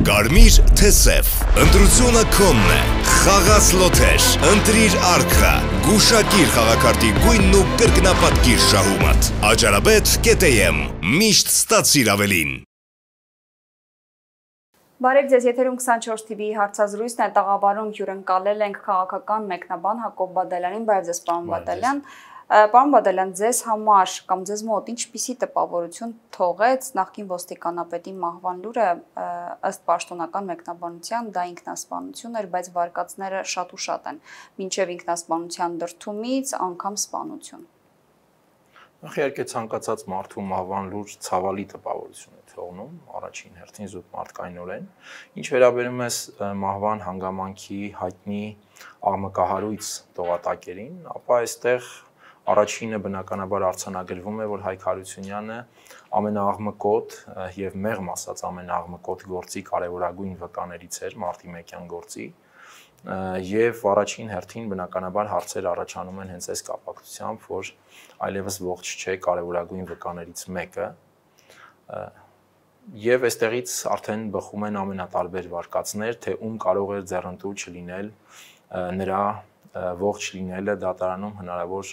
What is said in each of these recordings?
Կարմիր թե սև, ընտրությունը քոնն է, խաղաց լոթեր, ընտրիր արքա, գուշակիր խաղակարտի գույնն ու կրկնապատկիր շահումդ, Ajarabet.am, միշտ ստացիր ավելին։ Բարև ձեզ, եթերում 24 TV հարցազրույցն է, տաղավարում հյուրընկալել ենք քաղաքական մեկնաբան Հակոբ Բադալյանին, բարև ձեզ պարոն Բադալյան։ Պարոն Բադալյան, ձեզ համար կամ ձեզ մոտ ինչպիսի տպավորություն թողեց նախկին ոստիկանապետի մահվան լուրը, ըստ պաշտոնական մեկնաբանության դա ինքնասպանություն էր, բայց վարկածները շատ ու շատ են, մինչև ինքնասպանության դրդումից անգամ սպանություն։ Իհարկե ցանկացած մարդու մահվան լուր ցավալի տպավորություն է թողնում, առաջին հերթին զուտ մարդկայնորեն։ Ինչ վերաբերում է մահվան հանգամանքի հայտնի աղմկահարույց տողատակերին, ապա այստեղ առաջինը բնականաբար արձանագրվում է, որ Հայկ Հարությունյանը ամենաաղմկոտ եւ մեղմ ասած ամենաաղմկոտ գործի կարևորագույն վկաներից էր մարտի 1-յան գործի եւ առաջին հերթին բնականաբար հարցեր առաջանում են հենց այս կապակցությամբ, որ այլևս ողջ չէ կարևորագույն վկաներից մեկը եւ այստեղից արդեն բխում են ամենատարբեր վարկածներ, թե ում կարող էր ձեռնտու չլինել նրա ողջ լինելը դատարանում հնարավոր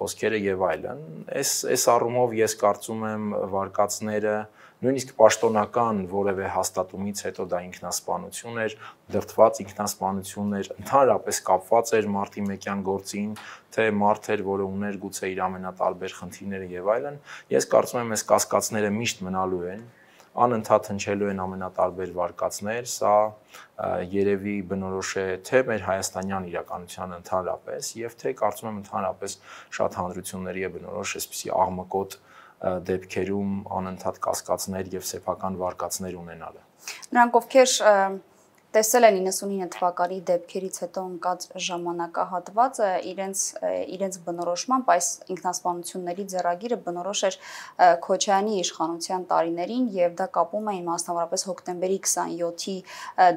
խոսքերը եւ այլն։ Այս առումով ես կարծում եմ վարկածները նույնիսկ պաշտոնական որևէ հաստատումից հետո դա ինքնասպանություն էր, դրդված ինքնասպանություն էր, ընդհանրապես կապված էր մարտի 1-յան գործին, թե մարդ էր, որը ուներ գուցե իր ամենատարբեր խնդիրները եւ այլն։ Ես կարծում եմ այս կասկածները միշտ մնալու են, անընդհատ հնչելու են ամենատարբեր վարկածներ, սա երևի բնորոշ է թե մեր հայաստանյան իրականության ընդհանրապես եւ թե կարծում եմ ընդհանրապես շատ հանրությունների է բնորոշ այսպիսի աղմկոտ դեպքերում անընդհատ կասկածներ եւ սեփական վարկածներ ունենալը։ Նրանք ովքեր տեսել են 99 թվականի դեպքերից հետո ընկած ժամանակահատվածը իրենց բնորոշմամբ այս ինքնասպանությունների ձեռագիրը բնորոշ էր Քոչարյանի իշխանության տարիներին եւ դա կապում էին մասնավորապես հոկտեմբերի 27-ի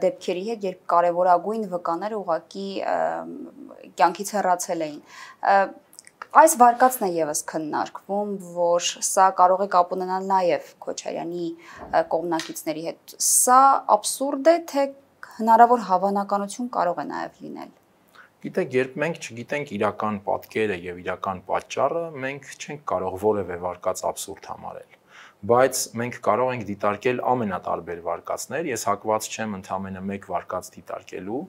դեպքերի հետ, երբ կարևորագույն վկաները ուղղակի կյանքից հեռացել էին։ Այս վարկածն է եւս քննարկվում, որ սա կարող է կապ ունենալ նաեւ Քոչարյանի կողմնակիցների հետ։ Սա աբսուրդ է, թե հնարավոր հավանականություն կարող է նաև լինել։ Գիտեք, երբ մենք չգիտենք իրական պատկերը եւ իրական պատճառը, մենք չենք կարող որևէ վարկած աբսուրդ համարել։ Բայց մենք կարող ենք դիտարկել ամենատարբեր վարկածներ, ես հակված չեմ ընդամենը մեկ վարկած դիտարկելու,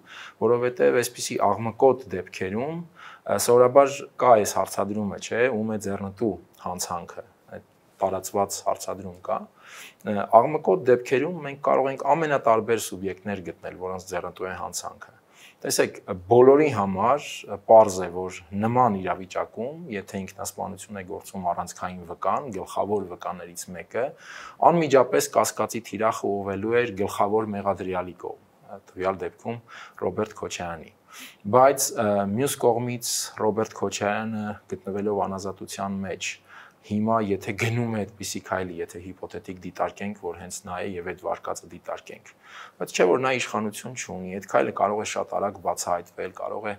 որովհետեւ այսպիսի աղմկոտ դեպքերում սովորաբար կա այս հարցադրումը, չէ, ում է ձեռնտու հանցանքը, այդ տարածված հարցադրում կա։ Աղմկոտ դեպքերում մենք կարող ենք ամենատարբեր սուբյեկտներ գտնել, որոնց ձեռնտու է հանցանքը։ Տեսեք, բոլորի համար պարզ է, որ նման իրավիճակում, եթե ինքնասպանություն է գործում առանցքային վկան, գլխավոր վկաներից մեկը, անմիջապես կասկածի թիրախը ուղղվելու էր գլխավոր մեղադրյալի կողմ, տվյալ դեպքում Ռոբերտ Քոչարյանի։ Բայց մյուս կողմից Ռոբերտ Քոչարյանը գտնվելով անազատության մեջ հիմա եթե գնում է այդպիսի քայլի, եթե հիպոթետիկ դիտարկենք, որ հենց նա է եւ այդ վարկածը դիտարկենք, բայց չէ որ նա իշխանություն չունի, այդ քայլը կարող է շատ արագ բացահայտվել, կարող է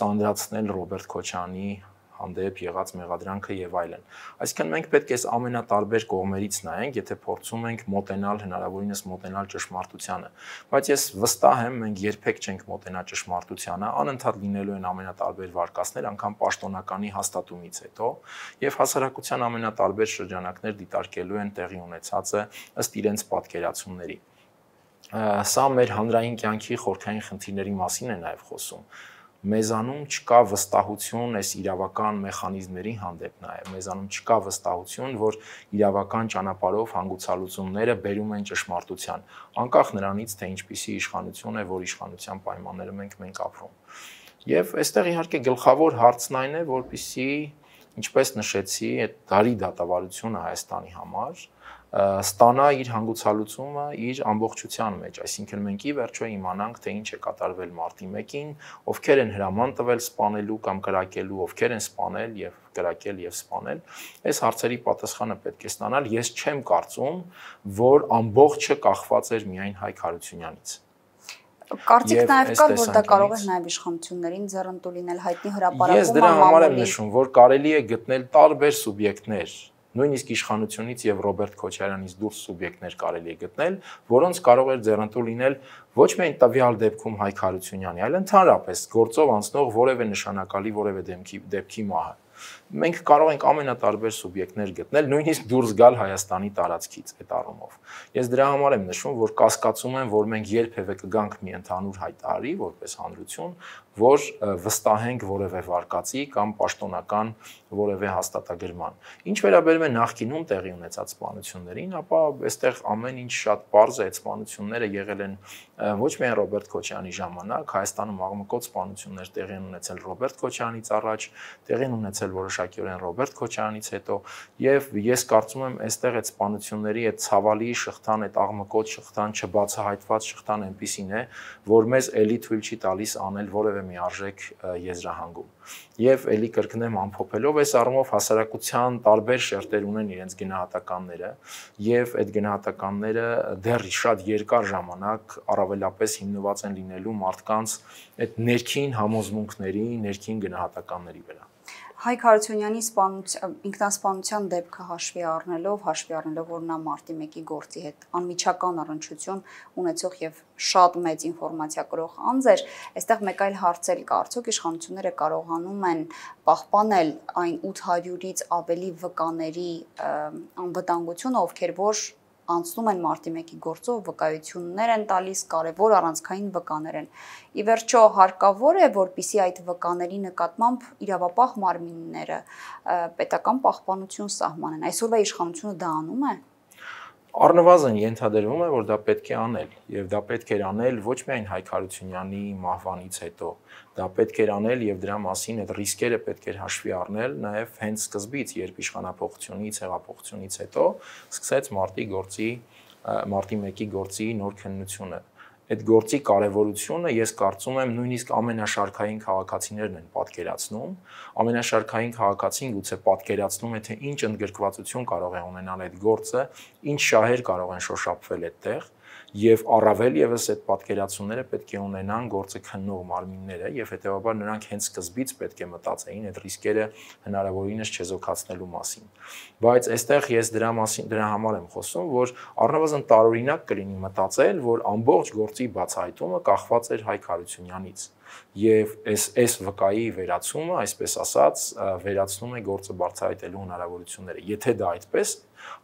ծանրացնել Ռոբերտ Քոչարյանի հանդեպ եղած մեղադրանքը եւ այլն։ Այսինքն մենք պետք է ամենատարբեր կողմերից նայենք, եթե փորձում ենք մոտենալ հնարավորինս մոտենալ ճշմարտությանը, բայց ես վստահ եմ, մենք երբեք չենք մոտենա ճշմարտությանը, անընդհատ լինելու են ամենատարբեր վարկածներ, անգամ պաշտոնականի հաստատումից հետո, եւ հասարակության ամենատարբեր շրջանակներ դիտարկելու են տեղի ունեցածը ըստ իրենց պատկերացումների։ Սա մեր հանրային կյանքի խորքային խնդիրների մասին է նաեւ խոսում։ Մեզանում չկա վստահություն այս իրավական մեխանիզմների հանդեպ նաև, մեզանում չկա վստահություն, որ իրավական ճանապարհով հանգուցալուծումները բերում են ճշմարտության, անկախ նրանից, թե ինչպիսի իշխանություն է, որ իշխանության պայմաններում ենք ապրում։ Եվ այստեղ իհարկե գլխավոր հարցն այն է, որպեսզի, ինչպես նշեցի, այդ դարի դատավարությունը Հայաստանի համար ստանա իր հանգուցալուծումը իր ամբողջության մեջ, այսինքն մենք ի վերջո իմանանք, թե ինչ է կատարվել մարտի 1-ին, ովքեր են հրաման տվել սպանելու կամ կրակելու, ովքեր են սպանել եւ կրակել եւ սպանել, այս հարցերի պատասխանը պետք է ստանալ։ Ես չեմ կարծում, որ ամբողջը կախված էր միայն Հայկ Հարությունյանից։ Կարծիք նաև կար, որ դա կարող է նաև իշխանություններին ձեռնտու լինել հայտնի հրապարակում։ Ես դրա համար եմ նշում, որ կարելի է գտնել տարբեր սուբյեկտներ Նույնիսկ իշխանությունից եւ Ռոբերտ Քոչարյանից դուրս սուբյեկտներ կարելի է գտնել, որոնց կարող էր ձեռնտու լինել ոչ միայն տվյալ դեպքում Հայկ Հարությունյանի, այլ ընդհանրապես գործով անցնող որևէ նշանակալի որևէ դեպքի մահը։ Մենք կարող ենք ամենատարբեր սուբյեկտներ գտնել, նույնիսկ դուրս գալ Հայաստանի տարածքից այդ առումով։ Ես դրա համար եմ նշում, որ կասկածում եմ, որ մենք երբևէ կգանք մի ընդհանուր հայտարարի որպես հանրություն, որ վստահենք որևէ վարկածի կամ պաշտոնական որևէ հաստատագրման։ Ինչ վերաբերում է նախկինում տեղի ունեցած սպանություններին, ապա այստեղ ամեն ինչ շատ պարզ է, այդ սպանությունները եղել են ոչ միայն Ռոբերտ Քոչարյանի ժամանակ, Հայաստանում աղմկոտ սպանություններ տեղի են ունեցել Ռոբերտ Քոչարյանից առաջ, տեղի են ունեցել որոշակիորեն Ռոբերտ Քոչարյանից հետո, եւ ես կարծում եմ, այստեղ այդ սպանությունների այդ ցավալի շղթան, այդ աղմկոտ շղթան, չբացահայտված շղթան այնպիսին է, որ մեզ էլի թույլ չի տալիս անել որևէ մի արժեք եզրահանգում։ Եվ էլի կրկնեմ ամփոփելով, այս առումով հասարակության տարբեր շերտեր ունեն իրենց գնահատականները, եւ այդ գնահատականները դեռ շատ երկար ժամանակ առավելապես հիմնված են լինելու մարդկանց այդ ներքին համոզմունքների, ներքին գնահատականների վրա։ Հայկ Հարությունյանի ինքնասպանության դեպքը հաշվի առնելով, որ նա մարտի 1-ի գործի հետ անմիջական առնչություն ունեցող եւ շատ մեծ ինֆորմացիա կրող անձ էր, այստեղ մեկ այլ հարց էլ կա, արդյոք իշխանությունները կարողանում են պահպանել այն 800-ից ավելի վկաների անվտանգությունը, ովքեր որ անցնում են մարտի 1-ի գործով, վկայություններ են տալիս, կարևոր առանցքային վկաներ են։ Ի վերջո հարկավոր է, որպեսզի այդ վկաների նկատմամբ իրավապահ մարմինները պետական պահպանություն սահմանեն։ Այսօրվա իշխանությունը դա անում է։ Առնվազն ենթադրվում է, որ դա պետք է անել, եւ դա պետք է անել ոչ միայն Հայկ Հարությունյանի մահվանից հետո, դա պետք է аնել եւ դրա մասին այդ ռիսկերը պետք է հաշվի առնել նաեւ հենց սկզբից, երբ իշխանապողությունից, հեղափոխությունից հետո սկսեց մարտի 1-ի գործի նոր քննությունը։ Այդ գործի կարևորությունը ես կարծում եմ նույնիսկ ամենաշարքային քաղաքացիներն են պատկերացնում, ամենաշարքային քաղաքացին գուցե պատկերացնում է, թե ինչ ընդգրկվածություն կարող է ունենալ այդ գործը, ինչ շահեր կարող են շոշափվել այդտեղ, եւ առավել եւս այդ պատկերացումները պետք է ունենան գործը քննող մարմինները եւ հետեւաբար նրանք հենց սկզբից պետք է մտածեին այդ ռիսկերը հնարավորինս չեզոքացնելու մասին։ Բայց այստեղ ես դրա համար եմ խոսում, որ առնվազն տարօրինակ կլինի մտածել, որ ամբողջ գործի բացահայտումը կախված էր Հայկ Հարությունյանից եւ այս վկայի վերացումը, այսպես ասած, վերացնում է գործը բարձրացնելու հնարավորությունները։ Եթե դա այդպես,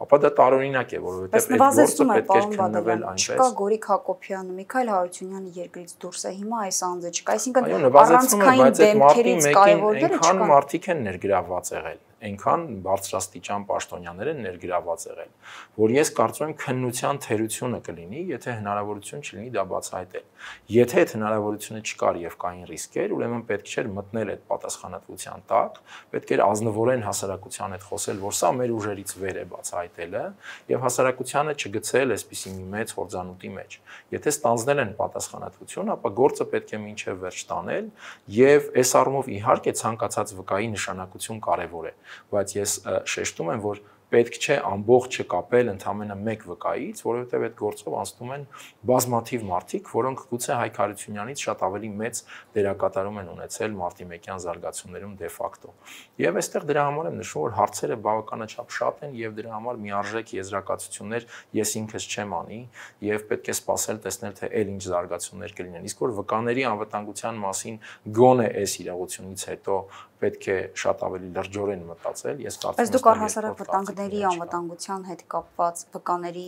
ապա դա տարօրինակ է, որովհետեւ այդ գործը պետք է քննվել այնպես։ Չկա Գորիկ Հակոբյանը, Միքայել Հարությունյանը երկրից դուրս է, հիմա այս անձը չկա, այսինքն առանցքային դեմքերից կարևորները չկան։ Այնքան մարդիկ են ներգրավված եղել, այնքան բարձրաստիճան պաշտոնյաներ են ներգրավված եղել, որ ես կարծում եմ քննության թերությունը կլինի, եթե հնարավորություն չլինի դա բացահայտել։ Եթե այդ հնարավորությունը չկար եւ կային ռիսկեր, ուրեմն պետք չէր մտնել այդ պատասխանատվության տակ, պետք էր ազնվորեն հասարակության հետ խոսել, որ սա մեր ուժերից վեր է բացահայտելը եւ հասարակությանը չգցել այսպիսի մի մեծ հորձանուտի մեջ։ Եթե ստանձնել են պատասխանատվություն, ապա գործը պետք է մինչեւ վերջ տանել եւ այս առումով իհարկե ցանկացած վկայի նշանակություն կարեւոր է, բայց ես շեշտում եմ, որ պետք չէ ամբողջը կապել ընդամենը մեկ վկայից, որովհետև այդ գործով անցնում են բազմաթիվ մարդիկ, որոնք գուցե Հայկ Հարությունյանից շատ ավելի մեծ դերակատարում են ունեցել մարտի 1-յան զարգացումներում դե ֆակտո։ Եվ այստեղ դրա համար եմ նշում, որ հարցերը բավականաչափ շատ են եւ դրա համար միարժեք եզրակացություններ ես ինքս չեմ անի եւ պետք է սպասել տեսնել թե այլ ինչ զարգացումներ կլինեն։ Իսկ որ վկաների անվտանգության մասին գոնե այս իրողությունից հետո պետք է շատ ավելի լրջորեն մտածել, ես կարծում եմ։ Բայց դուք առհասարակ վտանգների անվտանգության հետ կապված, վկաների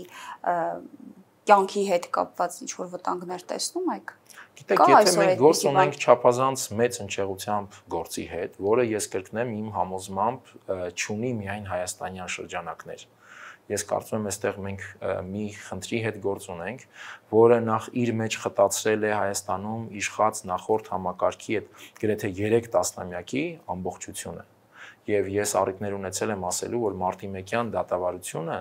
կյանքի հետ կապված ինչ-որ վտանգներ տեսնում եք։ Գիտեք, եթե մենք գործ ունենք չափազանց մեծ հնչեղությամբ գործի հետ, որը ես կրկնեմ իմ համոզմամբ չունի միայն հայաստանյան շրջանակներ։ Ես կարծում եմ այստեղ մենք մի խնդրի հետ գործ ունենք, որը նախ իր մեջ խտացրել է Հայաստանում իշխած նախորդ համակարգի այդ գրեթե 3 տասնամյակի ամբողջությունը։ Եվ ես առիթներ ունեցել եմ ասելու, որ մարտի 1-յան դատավարությունը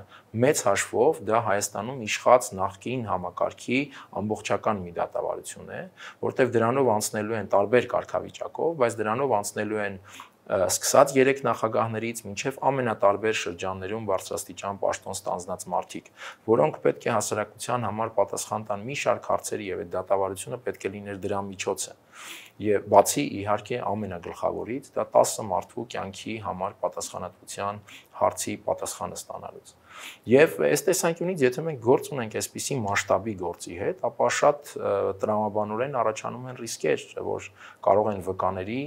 մեծ հաշվով դա Հայաստանում իշխած նախկին համակարգի ամբողջական մի դատավարություն է, որտեղ դրանով անցնելու են տարբեր կարգավիճակով, բայց դրանով անցնելու են սկսած 3 նախագահներից մինչև ամենատարբեր շրջաններում բարձրաստիճան պաշտոն ստանձնած մարդիկ, որոնք պետք է հասարակության համար պատասխան տան մի շարք հարցերի եւ այդ դատավարությունը պետք է լիներ դրա միջոցը։ Եվ բացի իհարկե ամենագլխավորից, դա 10 մարդու կյանքի համար պատասխանատվության հարցի պատասխանը ստանալուց։ Եվ այս տեսանկյունից, եթե մենք գործ ունենք այսպիսի մասշտաբի գործի հետ, ապա շատ տրամաբանորեն առաջանում են ռիսկեր, որ կարող են վկաների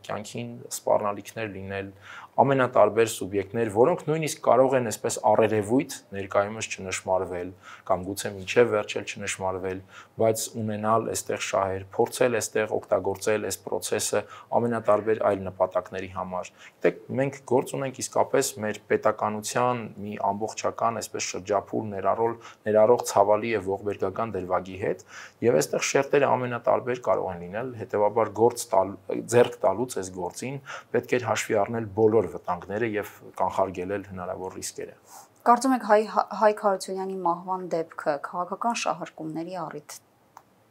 կյանքին սպառնալիքներ լինել, ամենատարբեր սուբյեկտներ, որոնք նույնիսկ կարող են այսպես առերևույթ ներկայումս չնշմարվել կամ գուցե մինչև վերջել չնշմարվել, բայց ունենալ այստեղ շահեր, փորձել այստեղ օգտագործել այս process-ը ամենատարբեր այլ նպատակների համար։ Գիտեք, մենք գործ ունենք իսկապես մեր պետականության մի ամբողջական այսպես շրջափուլ ներառող ցավալի եւ ողբերգական դրվագի հետ, եւ այստեղ շերտերը ամենատարբեր կարող են լինել, հետեւաբար ձեռք տալուց այս գործին պետք է հաշվի առնել բոլոր վտանգները եւ կանխարգելել հնարավոր ռիսկերը։ Կարծում եք Հայկ Հարությունյանի մահվան դեպքը քաղաքական շահարկումների առիթ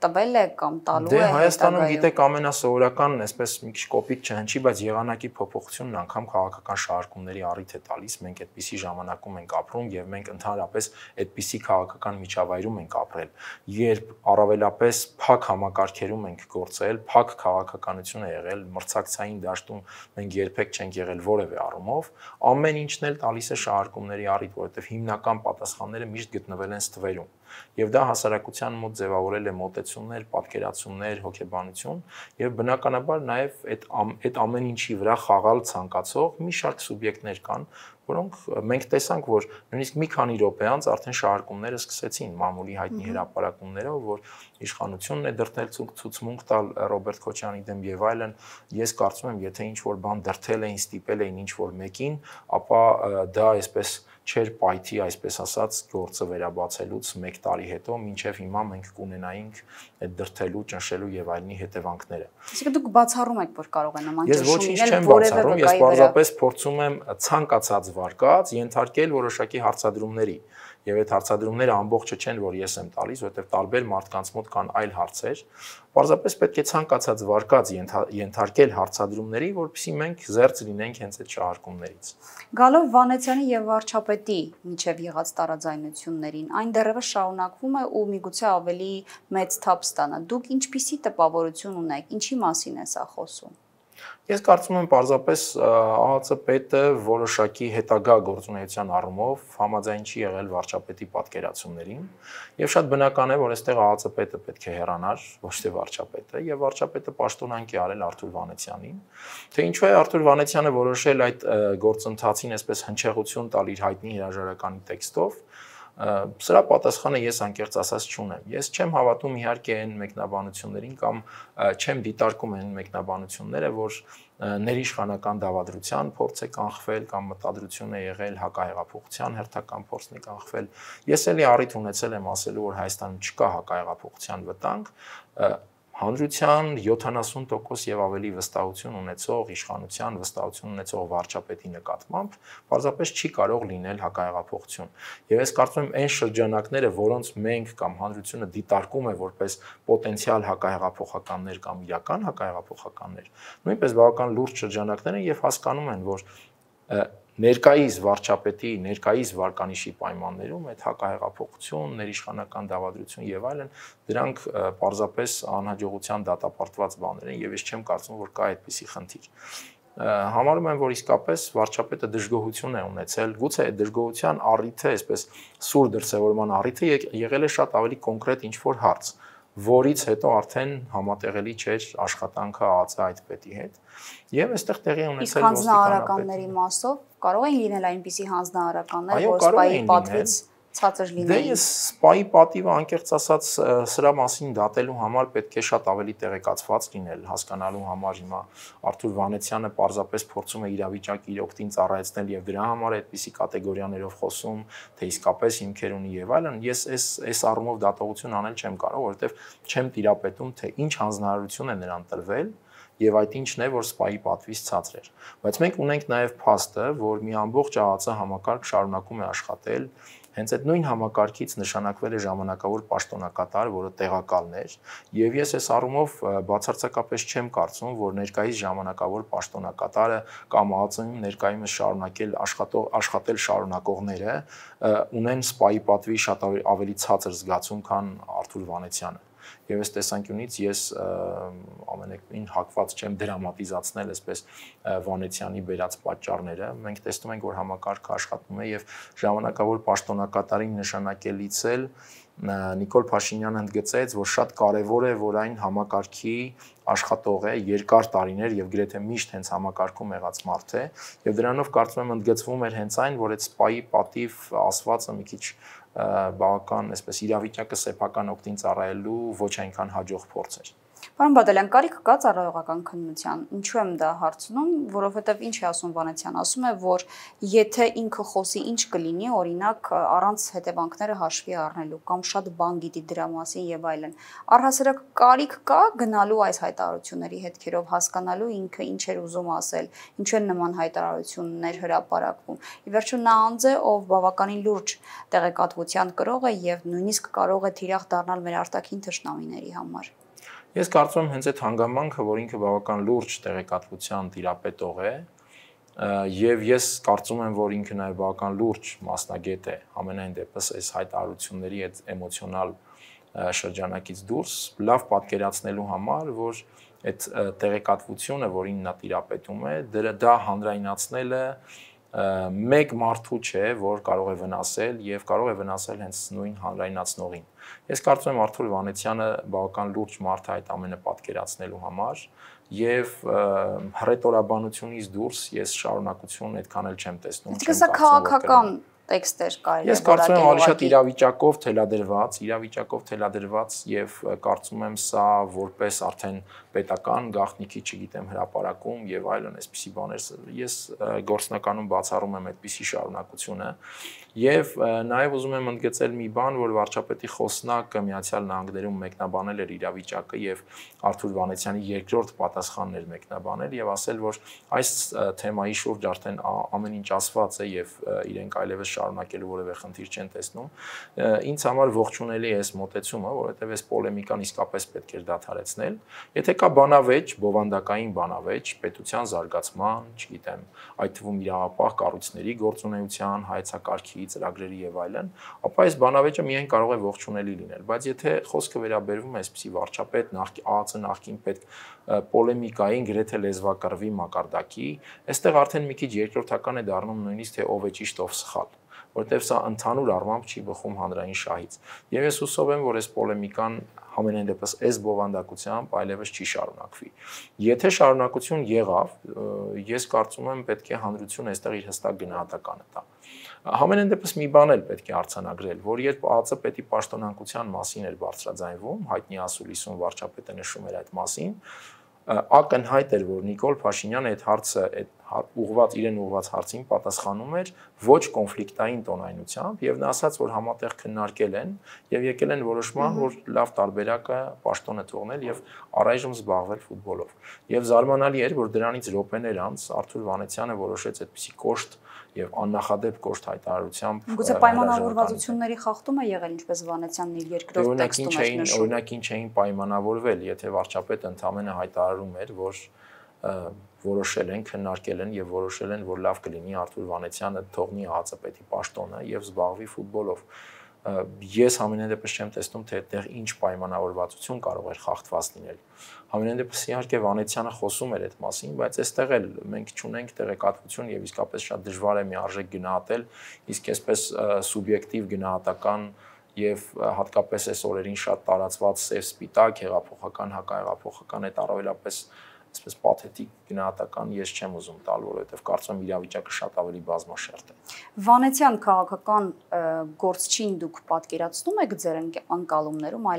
տվել է կամ տալու է։ Դե Հայաստանում գիտեք ամենասովորական, այսպես մի քիչ կոպիտ չհնչի, բայց եղանակի փոփոխությունն անգամ քաղաքական շահարկումների առիթ է տալիս։ Մենք այդպիսի ժամանակում ենք ապրում եւ մենք ընդհանրապես այդպիսի քաղաքական միջավայրում ենք ապրել, երբ առավելապես փակ համակարգերում ենք գործել, փակ քաղաքականություն է եղել, մրցակցային դաշտում մենք երբեք չենք եղել որևէ առումով, ամեն ինչն էլ տալիս է շահարկումների առիթ, որովհետեւ հիմնական պատասխանները միշտ գտնվել են ստվերում։ Եվ դա հասարակության մոտ ձևավորել է մոտեցումներ, պատկերացումներ, հոգեբանություն եւ բնականաբար նաեւ այդ ամեն ինչի վրա խաղալ ցանկացող մի շարք սուբյեկտներ կան, որոնք մենք տեսանք, որ նույնիսկ մի քանի րոպե անց արդեն շահարկումները սկսեցին մամուլի հայտնի հրապարակումներով, որ իշխանությունն է դրդել ցուցմունք տալ Ռոբերտ Քոչարյանի դեմ եւ այլն։ Ես կարծում եմ, եթե ինչ-որ բան դրդել էին, ստիպել էին ինչ-որ մեկին, ապա դա այսպես չեր պայթի, այսպես ասած, գործը վերաբացելուց 1 տարի հետո, մինչև հիմա մենք կունենայինք այդ դրդելու, ճնշելու եւ այլնի հետևանքները։ Իսկ դուք բացառում եք, որ կարող է նման ճնշում լինել որևէ վկայի վրա։ Ես պարզապես փորձում եմ ցանկացած վարկած ենթարկել որոշակի հարցադրումների։ Եվ այդ հարցադրումները ամբողջը չեն, որ ես եմ տալիս, որովհետև տարբեր մարդկանց մոտ կան այլ հարցեր։ Պարզապես պետք է ցանկացած վարկած ենթարկել հարցադրումների, որպեսզի մենք զերծ լինենք հենց այդ շահարկումներից։ Գալով Վանեցյանի եւ վարչապետի միջև եղած տարաձայնություններին, այն դեռևս շարունակվում է ու միգուցե ավելի մեծ թափ ստանա։ Դուք ինչպիսի տպավորություն ունեք, ինչի մասին է սա խոսում։ Ես կարծում եմ պարզապես ԱԱԾ պետը որոշակի հետագա գործունեության առումով համաձայն չի եղել վարչապետի պատկերացումներին եւ շատ բնական է, որ այստեղ ԱԱԾ պետը պետք է հեռանար, ոչ թե վարչապետը, եւ վարչապետը պաշտոնանկ է արել Արթուր Վանեցյանին, թե ինչու է Արթուր Վանեցյանը որոշել այդ գործընթացին այսպես հնչեղություն տալ իր հայտնի հրաժարականի տեքստով։ Սրա պատասխանը ես անկեղծ ասած չունեմ։ Ես չեմ հավատում իհարկե այն մեկնաբանություններին կամ չեմ դիտարկում այն մեկնաբանությունները, որ ներիշխանական դավադրության փորձ է կանխվել կամ մտադրություն է եղել հակահեղափոխության հերթական փորձն է կանխվել։ Ես էլի առիթ ունեցել եմ ասելու, որ Հայաստանում չկա հակահեղափոխության վտանգ, հանրության 70% եւ ավելի վստահություն ունեցող իշխանության վստահություն ունեցող վարչապետի նկատմամբ պարզապես չի կարող լինել հակահեղափոխություն։ Եվ ես կարծում եմ այն շրջանակները, որոնց մենք կամ հանրությունը դիտարկում է որպես պոտենցիալ հակահեղափոխականներ կամ իրական հակահեղափոխականներ, նույնպես բավական լուրջ շրջանակներ են եւ հասկանում են, որ ներկայիս վարչապետի, ներկայիս վարկանիշի պայմաններում այդ հակահեղափոխություն, ներիշխանական դավադրություն եւ այլն, դրանք պարզապես անհաջողության դատապարտված բաներ են եւ ես չեմ կարծում, որ կա այդպիսի խնդիր։ Համարում եմ, որ իսկապես վարչապետը դժգոհություն է ունեցել, գուցե այդ դժգոհության առիթը, այսպես սուր դրսևորման առիթը եղել է շատ ավելի կոնկրետ ինչ-որ հարց, որից հետո արդեն համատեղելի չէր աշխատանքը ԱԱԾ այդ պետի հետ։ Եվ այստեղ տեղի ունեցել հանձնարարականների մասով կարող են լինել այնպիսի հանձնարարականներ, որ սպայի պատվից ցածր լինեն։ Դե ես սպայի պատիվը անկեղծ ասած սրա մասին դատելու համար պետք է շատ ավելի տեղեկացված լինել, հասկանալու համար հիմա Արթուր Վանեցյանը պարզապես փորձում է իրավիճակը իր օգտին ծառայեցնել եւ դրա համար այդպիսի կատեգորիաներով խոսում, թե իսկապես հիմքեր ունի եւ այլն։ Ես այս առումով դատողություն անել չեմ կարող, որովհետեւ չեմ տիրապետում, թե ինչ հանձնարարություն է նրան տրվել եւ այդ ինչն է, որ սպայի պատվից ցածր էր։ Բայց մենք ունենք նաեւ փաստը, որ մի ամբողջ ԱԱԾ համակարգ շարունակում է աշխատել հենց այդ նույն համակարգից նշանակվել է ժամանակավոր պաշտոնակատար, որը տեղակալն էր, եւ ես այս առումով բացարձակապես չեմ կարծում, որ ներկայիս ժամանակավոր պաշտոնակատարը կամ ԱԱԾ-ում ներկայումս շարունակել աշխատել շարունակողները ունեն սպայի պատվի շատ ավելի ցածր զգացում, քան Արթուր Վանեցյանը։ Եվ այս տեսանկյունից ես ամենևին հակված չեմ դրամատիզացնել այսպես Վանեցյանի բերած պատճառները։ Մենք տեսնում ենք, որ համակարգը աշխատում է եւ ժամանակավոր պաշտոնակատարին նշանակելից էլ Նիկոլ Փաշինյանը ընդգծեց, որ շատ կարևոր է, որ այն համակարգի աշխատող է երկար տարիներ եւ գրեթե միշտ հենց համակարգում եղած մարդ է եւ դրանով կարծում եմ ընդգծվում էր հենց այն, որ այդ սպայի պատիվ ասվածը մի քիչ բավական այսպես իրավիճակը սեփական օգտին ծառայելու ոչ այնքան հաջող փորձ էր։ Պարոն Բադալյան, կարիք կա ծառայողական քննության։ Ինչու եմ դա հարցնում, որովհետև ինչ է ասում Վանեցյանը, ասում է, որ եթե ինքը խոսի ինչ կլինի, օրինակ առանց հետևանքները հաշվի առնելու կամ շատ բան գիտի դրա մասին եւ այլն։ Առհասարակ կարիք կա գնալու այս հայտարարությունների հետքերով հասկանալու ինքը ինչ էր ուզում ասել, ինչու են նման հայտարարություններ հրապարակվում։ Ի վերջո նա անձ է, ով բավականին լուրջ տեղեկատվության կրող է եւ նույնիսկ կարող է թիրախ դառնալ մեր արտաքին թշնամիների համար։ Ես կարծում եմ հենց այդ հանգամանքը, որ ինքը բավական լուրջ տեղեկատվության տիրապետող է, եւ ես կարծում եմ, որ ինքը նաեւ բավական լուրջ մասնագետ է, ամենայն դեպս այս հայտարարությունների այդ էմոցիոնալ շրջանակից դուրս, լավ պատկերացնելու համար, որ այդ տեղեկատվությունը, որին նա տիրապետում է, դա հանրայնացնելը մեկ մարդու չէ, որ կարող է վնասել եւ կարող է վնասել հենց նույն հանրայնացնողին։ Ես կարծում եմ Արթուր Վանեցյանը բավական լուրջ մարդ է այդ ամենը պատկերացնելու համար եւ հռետորաբանությունից դուրս ես շարունակություն այդքան էլ չեմ տեսնում։ Իսկ սա քաղաքական տեքստեր կարելի է Ես կարծում եմ ավելի շատ իրավիճակով թելադրված եւ կարծում եմ սա որպես արդեն պետական գաղտնիքի, չգիտեմ, հրապարակում եւ այլն այսպիսի բաներ ես գործնականում բացառում եմ այդպիսի շարունակությունը եւ նաեւ ուզում եմ ընդգծել մի բան, որ վարչապետի խոսնակը Միացյալ Նահանգներում մեկնաբանել էր իրավիճակը եւ Արթուր Վանեցյանի երկրորդ պատասխանն էր մեկնաբանել եւ ասել, որ այս թեմայի շուրջ արդեն ամեն ինչ ասված է եւ իրենք այլևս շարունակելու որևէ խնդիր չեն տեսնում։ Ինձ համար ողջունելի է այս մոտեցումը, որովհետև այս պոլեմիկան իսկապես պետք է դադարեցնել։ Եթե կա բանավեճ, բովանդակային բանավեճ, պետության զարգացման, չգիտեմ, այդ թվում իրավապահ կառույցների գործունեության, հայեցակարգի, ծրագրերի եւ այլն, ապա այս բանավեճը միայն կարող է ողջունելի լինել, բայց եթե խոսքը վերաբերվում է այսպիսի վարչապետ, ԱԱԾ նախկին պետք պոլեմիկային գրեթե լեզվակռվի մակարդակի, այստեղ արդեն մի քիչ երկրորդական է դառնում նույնիսկ թե ով է ճիշտ, ով սխալ, որտեղ սա ընդհանուր առմամբ չի բխում հանրային շահից։ Եվ ես հուսով եմ, որ այս պոլեմիկան համենայն դեպս այս բովանդակությամբ այլևս չի շարունակվի։ Եթե շարունակություն եղավ, ես կարծում եմ պետք է հանրությունը այստեղ իր հստակ գնահատականը տա։ Համենայն դեպս մի բան էլ պետք է արձանագրել, որ երբ ԱԱԾ պետի պաշտոնանկության մասին էր բարձրաձայնվում, հայտնի ասուլիսում վարչապետը նշում էր այդ մասին, ակնհայտ էր, որ Նիկոլ Փաշինյանը այդ հարցը իրեն ուղղված հարցին պատասխանում էր ոչ կոնֆլիկտային տոնայնությամբ եւ նա ասաց, որ համատեղ քննարկել են եւ եկել են որոշման, որ լավ տարբերակը պաշտոնը թողնել եւ առայժմ զբաղվել ֆուտբոլով։ Եվ զարմանալի էր, որ դրանից րոպեներ անց Արթուր Վանեցյանը որոշեց այդպիսի կոշտ եւ աննախադեպ կոշտ հայտարարությամբ գուցե պայմանավորվածությունների խախտում է եղել, ինչպես Վանեցյանն իր երկրորդ տեքստում էր նշում։ Օրինակ ինչ էին պայմանավորվել, եթե վարչապետը ընդամենը հայտարարում էր, որ որոշել են, քննարկել են եւ որոշել են, որ լավ կլինի Արթուր Վանեցյանը թողնի ԱԱԾ պետի պաշտոնը եւ զբաղվի ֆուտբոլով։ Ես ամենայն դեպս չեմ տեսնում, թե այդտեղ ինչ պայմանավորվածություն կարող էր խախտված լինել։ Ամենայն դեպս իհարկե Վանեցյանը խոսում էր այդ մասին, բայց այստեղ էլ մենք չունենք տեղեկատվություն եւ իսկապես շատ դժվար է միարժեք գնահատել, իսկ այսպես սուբյեկտիվ գնահատական եւ հատկապես այս օրերին շատ տարածված սև-սպիտակ, հեղափոխական, հակահեղափոխական այդ առավելապես այսպես պաթետիկ գնահատական ես չեմ ուզում տալ, որովհետև կարծում եմ իրավիճակը շատ ավելի բազմաշերտ է։ Վանեցյան քաղաքական գործչին դուք պատկերացնում եք ձեր անկալումներում,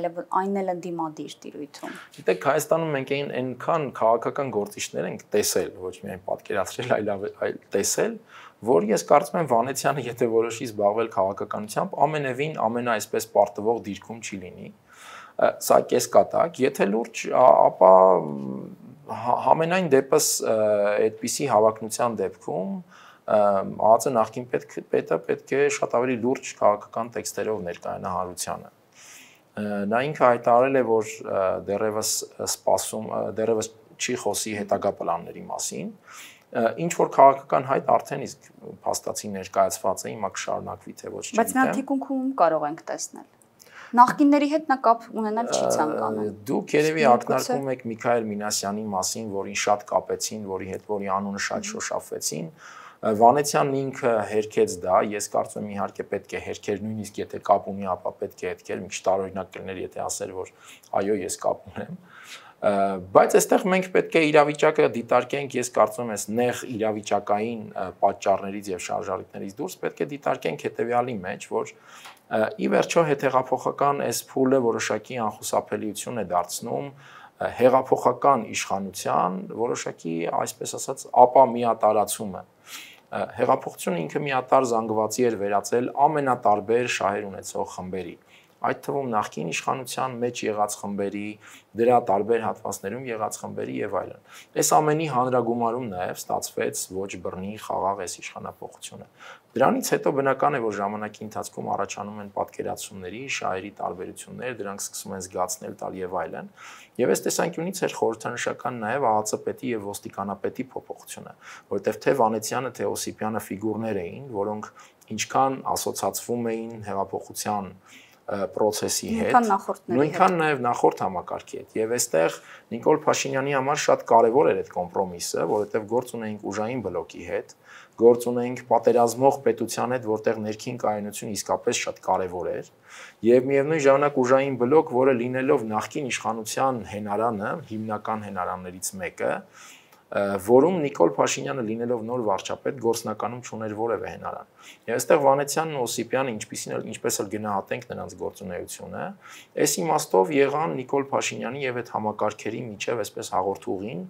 այն էլ ընդդիմադիր տիրույթում։ Գիտեք, Հայաստանում մենք այնքան քաղաքական գործիչներ ենք տեսել, ոչ միայն պատկերացրել, այլ տեսել, որ ես կարծում եմ Վանեցյանը, եթե որոշի զբաղվել քաղաքականությամբ, ամենևին այսպես պարտվող դիրքում չի լինի։ Սա կեսկատակ, եթե լուրջ, ապա համենայն դեպս այդպիսի հավակնության դեպքում ԱԱԾ նախկին պետը պետք է շատ ավելի լուրջ քաղաքական տեքստերով ներկայանա հանրությանը։ Նա ինքը հայտարարել է, որ դեռևս չի խոսի հետագա պլանների մասին, ինչ որ քաղաքական հայտ արդեն իսկ փաստացի ներկայացված է, հիմա կշարունակվի թե ոչ չգիտեմ։ Բայց նա թիկունքում կարող ենք տեսնել։ Նախկինների հետ նա կապ ունենալ չի ցանկանում։ Դուք երևի ակնարկում եք Միքայել Մինասյանի մասին, որին շատ կապեցին, որի անունը շատ շոշափվեցին։ Վանեցյանն ինքը հերքեց դա, ես կարծում եմ իհարկե պետք է հերքեր, նույնիսկ եթե կապ ունի, ապա պետք է հերքեր, մի քիչ տարօրինակ կլիներ, եթե ասեր, որ այո, ես կապ ունեմ։ Բայց այստեղ մենք պետք է իրավիճակը դիտարկենք, ես կարծում եմ, նեղ իրավիճակային պատճառներից եւ շարժառիթներից դուրս պետք է դիտարկենք հետեւյալի մեջ, որ ի վերջո հետհեղափոխական այս փուլը որոշակի անխուսափելիություն է դարձնում հեղափոխական իշխանության որոշակի, այսպես ասած, ապամիատարացումը։ Հեղափոխությունը ինքը միատար զանգվածի էր վերածել ամենատարբեր շահեր ունեցող խմբերի, այդ թվում նախկին իշխանության մեջ եղած խմբերի, դրա տարբեր հատվածներում եղած խմբերի եւ այլն։ Այս ամենի հանրագումարում նաեւ ստացվեց ոչ բռնի խաղաղ այս իշխանապողությունը։ Դրանից հետո բնական է, որ ժամանակի ընթացքում առաջանում են պատկերացումների, շահերի տարբերություններ, դրանք սկսում են զգացնել տալ եւ այլն։ Եվ այս տեսանկյունից էր խորհրդանշական նաեւ ԱԱԾ պետի եւ ոստիկանապետի փոփոխությունը, որտեղ թե Վանեցյանը, թե Օսիպյանը ֆիգուրներ էին, որոնք ինչքան ասոցացվում էին հեղափոխության process-ի հետ, նույնքան նաև նախորդ համակարգի հետ։ Եվ այստեղ Նիկոլ Փաշինյանի համար շատ կարևոր էր այդ կոմպրոմիսը, որովհետև գործ ունեինք ուժային բլոկի հետ, գործ ունեինք պատերազմող պետության հետ, որտեղ ներքին կայունությունը իսկապես շատ կարևոր էր, եւ միևնույն ժամանակ ուժային բլոկ, որը լինելով նախկին իշխանության հենարանը, հիմնական հենարաններից մեկը, որում Նիկոլ Փաշինյանը լինելով նոր վարչապետ գործնականում չուներ որևէ հենարան։ Եվ այստեղ Վանեցյանն ու Օսիպյանը ինչպես էլ գնահատենք նրանց գործունեությունը, այս իմաստով եղան Նիկոլ Փաշինյանի եւ այդ համակարգերի միջև այսպես հաղորդուղին,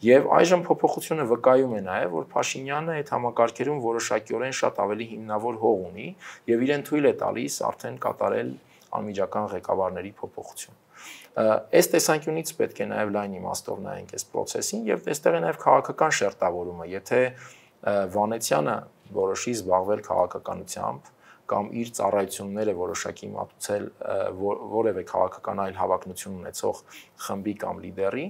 եւ այժմ փոփոխությունը վկայում է նաեւ, որ Փաշինյանը այդ համակարգերում որոշակիորեն շատ ավելի հիմնավոր հող ունի եւ իրեն թույլ է տալիս արդեն կատարել անմիջական ղեկավարների փոփոխություն։ Այս տեսանկյունից պետք է նաև լայն իմաստով նայենք այս process-ին եւ այստեղ է նաև քաղաքական շերտավորումը, եթե Վանեցյանը որոշի զբաղվել քաղաքականությամբ կամ իր ծառայությունները որոշակի մատուցել որևէ քաղաքական այլ հավակնություն ունեցող խմբի կամ լիդերի,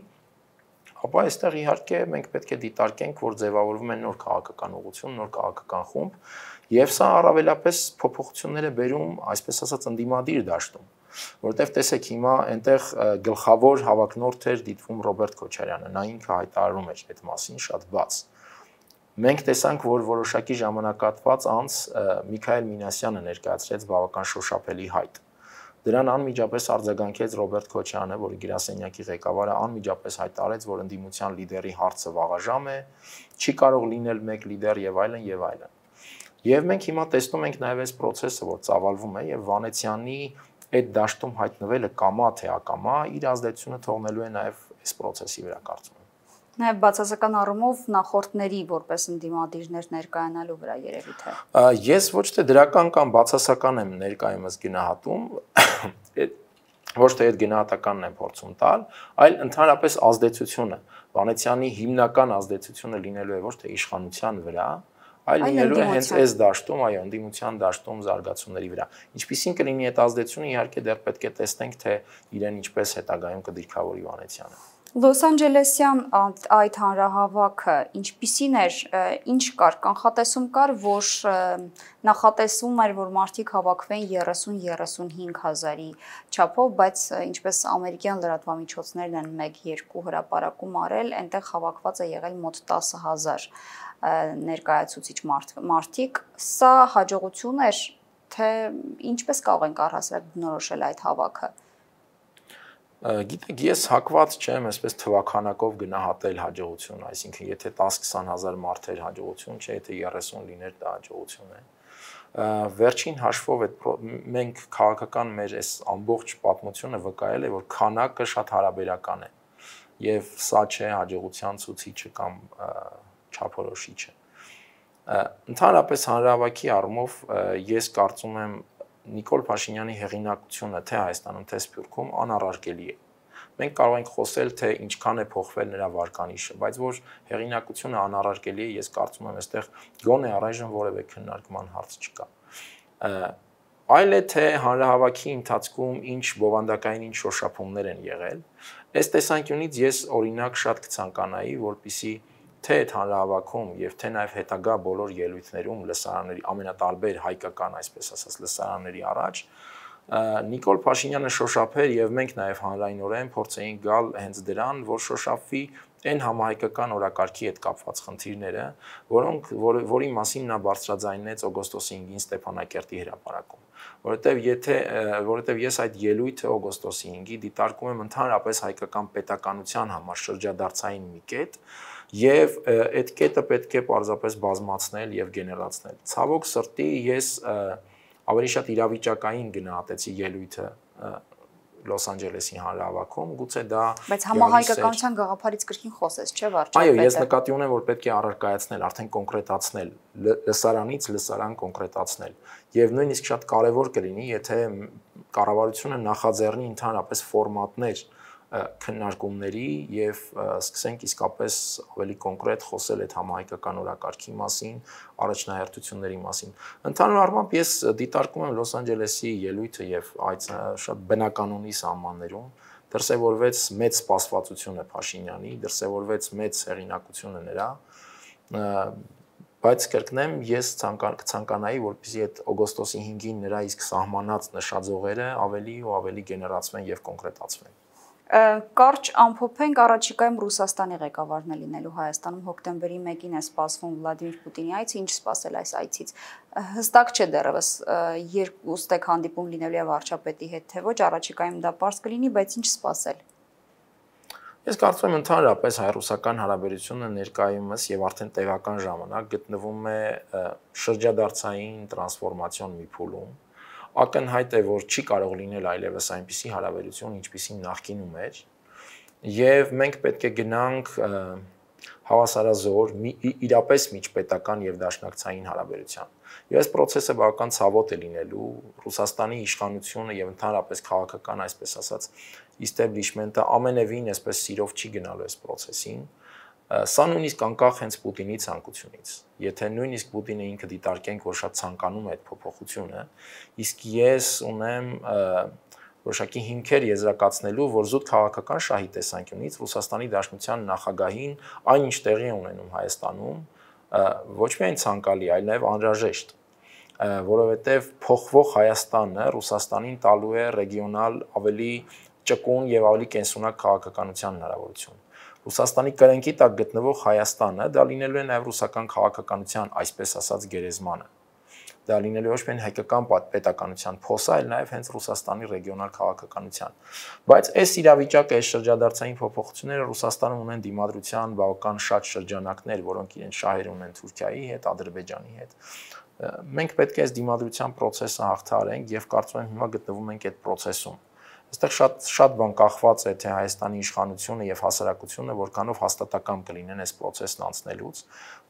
ապա այստեղ իհարկե մենք պետք է դիտարկենք, որ ձևավորվում է նոր քաղաքական ուղղություն, նոր քաղաքական խումբ, եւ սա առավելապես փոփոխություններ է բերում, այսպես ասած, ընդդիմադիր դաշտում, որովհետեւ տեսեք հիմա այնտեղ գլխավոր հավակնորդ էր դիտվում Ռոբերտ Քոչարյանը, նա ինքը հայտարարում էր այդ մասին շատ բաց։ Մենք տեսանք, որ որոշակի ժամանակատված անց Միքայել Մինասյանը ներկայացրեց բավական շոշափելի հայտ։ Դրան անմիջապես արձագանքեց Ռոբերտ Քոչյանը, որի գրասենյակի ղեկավարը անմիջապես հայտարարեց, որ ընդդիմության լիդերի հարցը վաղաժամ է, չի կարող լինել մեկ լիդեր եւ այլն եւ այլն։ Եվ մենք հիմա տեսնում ենք նաեւ այս process-ը, որ ծավալվում է եւ Վանեցյանի այդ դաշտում հայտնվելը կամա թե ակամա իր ազդեցությունը թողնելու է նաեւ այս process-ի վրա կարծում եմ։ Նաև բացասական առումով նախորդների որպես ընդդիմադիրներ ներկայանալու վրա երևի թե։ Ես ոչ թե դրական կամ բացասական եմ ներկայումս գնահատում, ոչ թե այդ գնահատականն եմ փորձում տալ, այլ ընդհանրապես ազդեցությունը, Վանեցյանի հիմնական ազդեցությունը լինելու է ոչ թե իշխանության վրա, այլ լինելու է հենց այս դաշտում, այո, ընդդիմության դաշտում զարգացումների վրա։ Ինչպիսին կլինի այդ ազդեցությունը, իհարկե դեռ պետք է տեսնենք, թե իրեն ինչպես հետագայում կդիրքավորի Վանեցյանը։ Լոս Անջելեսյան այդ հանրահավաքը ինչպիսին էր, ինչ կար, կանխատեսում կար, որ նախատեսվում էր, որ մարդիկ հավաքվեն 30-35 հազարի չափով, բայց ինչպես ամերիկյան լրատվամիջոցներն են 1-2 հրապարակում արել, այնտեղ հավաքված է եղել մոտ 10,000 ներկայացուցիչ մարդիկ, սա հաջողություն էր, թե ինչպես կարող ենք առհասարակ բնորոշել այդ հավաքը։ Գիտեք, ես հակված չեմ այսպես թվականակով գնահատել հաջողություն, այսինքն եթե 10-20 հազար մարդ էր հաջողություն, չէ, եթե 30 լիներ դա հաջողություն է։ Վերջին հաշվով մենք քաղաքական մեր այս ամբողջ պատմությունը վկայել է, որ քանակը շատ հարաբերական է եւ սա չէ հաջողության ցուցիչը կամ չափորոշիչը։ Ընդհանրապես հանրահավաքի առումով ես կարծում եմ Նիկոլ Փաշինյանի հեղինակությունը թե Հայաստանում, թե Սփյուռքում անառարկելի է։ մենք կարող ենք խոսել, թե ինչքան է փոխվել նրա վարկանիշը, բայց որ հեղինակությունը անառարկելի է, ես կարծում եմ, այստեղ գոնե առայժմ որևէ քննարկման հարց չկա։ Այլ է թե հանրահավաքի ընթացքում ինչ բովանդակային ինչ շոշափումներ են եղել։ Այս տեսանկյունից ես օրինակ շատ կցանկանայի, որպեսզի թե այդ հանրահավաքում եւ թե նաեւ հետագա բոլոր ելույթներում լսարանների ամենատարբեր հայկական, այսպես ասած, լսարանների առաջ Նիկոլ Փաշինյանը շոշափեր եւ մենք նաեւ հանրայնորեն փորձեինք գալ հենց դրան, որ շոշափվի այն համահայկական օրակարգի հետ կապված խնդիրները, որի մասին նա բարձրաձայնեց օգոստոսի 5-ին Ստեփանակերտի հրապարակում, որովհետեւ ես այդ ելույթը օգոստոսի 5-ի դիտարկում եմ ընդհանրապես հայկական պետականության համար շրջադարձային մի կետ, եւ այդ կետը պետք է պարզապես բազմացնել եւ գեներացնել։ Ցավոք սրտի ես ավելի շատ իրավիճակային գնահատեցի ելույթը Լոս Անջելեսի հանրահավաքում, գուցե դա բայց համահայկականության գաղափարից կրկին խոսես, չէ՞ վարչապետը։ Այո, ես նկատի ունեմ, որ պետք է առարկայացնել, արդեն կոնկրետացնել, լսարանից լսարան կոնկրետացնել։ Եվ նույնիսկ շատ կարևոր կլինի, եթե կառավարությունը նախաձեռնի ընդհանրապես ֆորմատներ քննարկումների եւ սկսենք իսկապես ավելի կոնկրետ խոսել այդ համահայկական օրակարգի մասին, առաջնահերթությունների մասին։ Ընդհանուր առմամբ ես դիտարկում եմ Լոս Անջելեսի ելույթը եւ այդ շատ բնականոնի սահմաններում դրսևորվեց մեծ սպասվածությունը Փաշինյանի, դրսևորվեց մեծ հեղինակությունը նրա, բայց կրկնեմ, ես կցանկանայի, որպեսզի այդ օգոստոսի 5-ին նրա իսկ սահմանած նշաձողերը ավելի ու ավելի գեներացվեն եւ կոնկրետացվեն։ Կարճ ամփոփենք առաջիկայում Ռուսաստանի ղեկավարն է լինելու Հայաստանում հոկտեմբերի 1-ին է սպասվում Վլադիմիր Պուտինի այցը, ինչ սպասել այս այցից։ Հստակ չէ դեռևս երկու ստեկ հանդիպում լինելու է վարչապետի հետ, թե ոչ, առաջիկայում դա պարզ կլինի, բայց ինչ սպասել։ Ես կարծում եմ ընդհանրապես հայ-ռուսական հարաբերությունը ներկայումս եւ արդեն տևական ժամանակ գտնվում է շրջադարձային տրանսֆորմացիոն մի փուլում։ Ակնհայտ է, որ չի կարող լինել այլևս այնպիսի հարաբերություն, ինչպիսին նախկինում էր, եւ մենք պետք է գնանք հավասարազոր իրապես միջպետական եւ դաշնակցային հարաբերության։ Եվ այս process-ը բավական ցավոտ է լինելու Ռուսաստանի իշխանությունը եւ ընդհանրապես քաղաքական, այսպես ասած, establishment-ը ամենևին այսպես սիրով չի գնալու այս process-ին։ Սա նույնիսկ անկախ հենց Պուտինի ցանկությունից։ Եթե նույնիսկ Պուտինը ինքը դիտարկենք, որ շատ ցանկանում է այդ փոփոխությունը, իսկ ես ունեմ որոշակի հիմքեր եզրակացնելու, որ զուտ քաղաքական շահի տեսանկյունից Ռուսաստանի Դաշնության նախագահին այնինչ տեղի է ունենում Հայաստանում, ոչ միայն ցանկալի, այլ նաև անհրաժեշտ, որովհետև փոխվող Հայաստանը Ռուսաստանին տալու է ռեգիոնալ ավելի ճկուն եւ ավելի կենսունակ քաղաքականության հնարավորություն։ Ռուսաստանի կրենքի տակ գտնվող Հայաստանը դա լինելու է նաև ռուսական քաղաքականության, այսպես ասած, գերեզմանը։ Դա լինելու ոչ միայն հայկական պետականության փոսը, այլ նաև հենց Ռուսաստանի ռեգիոնալ քաղաքականության։ Բայց այս իրավիճակը, այս շրջադարձային փոփոխությունները Ռուսաստանում ունեն դիմադրության բավական շատ շրջանակներ, որոնք իրենց շահեր ունեն Թուրքիայի հետ, Ադրբեջանի հետ։ Մենք պետք է այս դիմադրության process-ը հաղթահարենք եւ կարծում եմ հիմա գտնվում ենք այդ process-ում։ Այստեղ շատ բան կախված է թե Հայաստանի իշխանությունը եւ հասարակությունը որքանով հաստատակամ կլինեն այս process-ն անցնելուց,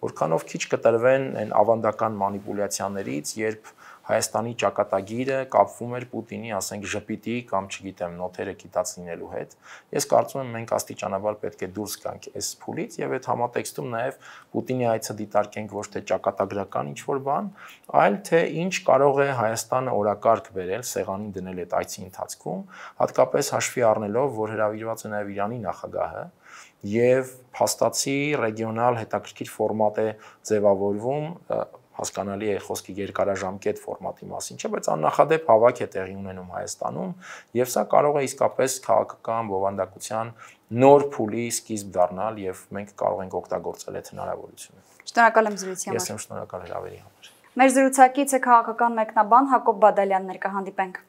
որքանով քիչ կտրվեն այն ավանդական մանիպուլյացիաներից, երբ Հայաստանի ճակատագիրը կապվում էր Պուտինի, ասենք, ժպիտի կամ չգիտեմ, նոթերը կիտած լինելու հետ։ Ես կարծում եմ մենք աստիճանաբար պետք է դուրս գանք այս փուլից եւ այդ համատեքստում նաեւ Պուտինի այցը դիտարկենք ոչ թե ճակատագրական ինչ-որ բան, այլ թե ինչ կարող է Հայաստանը օրակարգ բերել, սեղանին դնել այդ այցի ընթացքում, հատկապես հաշվի առնելով, որ հրավիրված է նաեւ Իրանի նախագահը եւ փաստացի ռեգիոնալ հետաքրքիր ֆորմատ է ձևավորվում, հասկանալի է խոսքի երկարաժամկետ ֆորմատի մասին, չէ, բայց աննախադեպ հավաք է տեղի ունենում Հայաստանում եւ սա կարող է իսկապես քաղաքական բովանդակության նոր փուլի սկիզբ դառնալ եւ մենք կարող ենք օգտագործել այդ հնարավորությունը։ Շնորհակալ եմ զրույցի համար։ Ես եմ շնորհակալ հրավերի համար։ Մեր զրուցակիցը քաղաքական մեկնաբան Հակոբ Բադալյանն էր, կհանդիպենք։